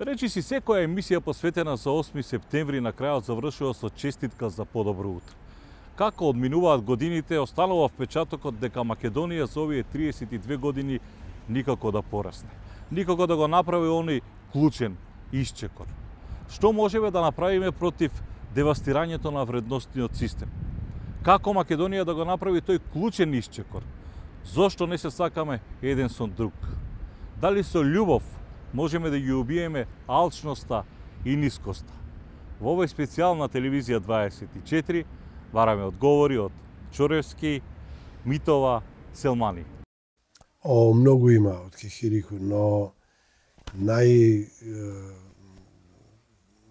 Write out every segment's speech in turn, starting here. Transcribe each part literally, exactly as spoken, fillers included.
Речи си, секоја емисија посветена за осми септември на крајот завршува со честитка за подобро утро. Како одминуваат годините, останува впечатокот дека Македонија за овие триесет и две години никако да порасне. Никако да го направи оној клучен исчекор. Што можеме да направиме против девастирањето на вредностниот систем? Како Македонија да го направи тој клучен исчекор? Зошто не се сакаме еден со друг? Дали со љубов можеме да ги убиеме алчноста и нискоста? Во овој специјал на телевизија дваесет и четири бараме одговори од Чоревски, Митова, Селмани. О, многу има од Кихирику, но нај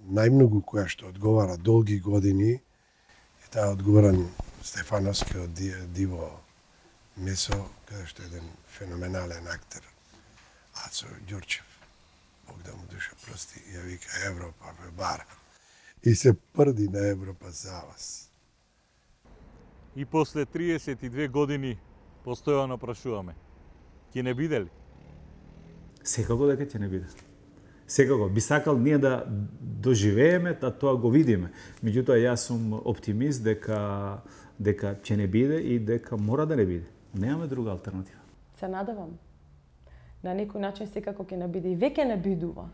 најмногу која што одговара долги години е таа одговоран Стефановски од Диво Месо, каде што е еден феноменален актер, Ацо Ѓурчев, Бог да му душа прости, ја вика Европа ве бара и се прди на Европа за вас. И после триесет и две години постојано прашуваме, ќе не биде ли? Секако дека ќе не биде. Секако би сакал ние да доживееме, да тоа го видиме. Меѓутоа јас сум оптимист дека дека ќе не биде и дека мора да не биде. Немаме друга алтернатива. Се надевам. На некој начин секако ќе не биде и веќе не бидува.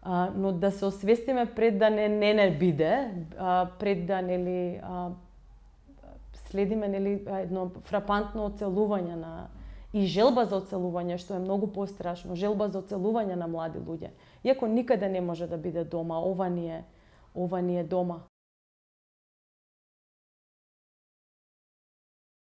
А, но да се освестиме пред да не не, не биде, а, пред да нели а, следиме нели едно фрапантно оцелување на и желба за оцелување, што е многу пострашно, желба за оцелување на млади луѓе. Иако никаде не може да биде дома, ова ни е, ова ни е дома.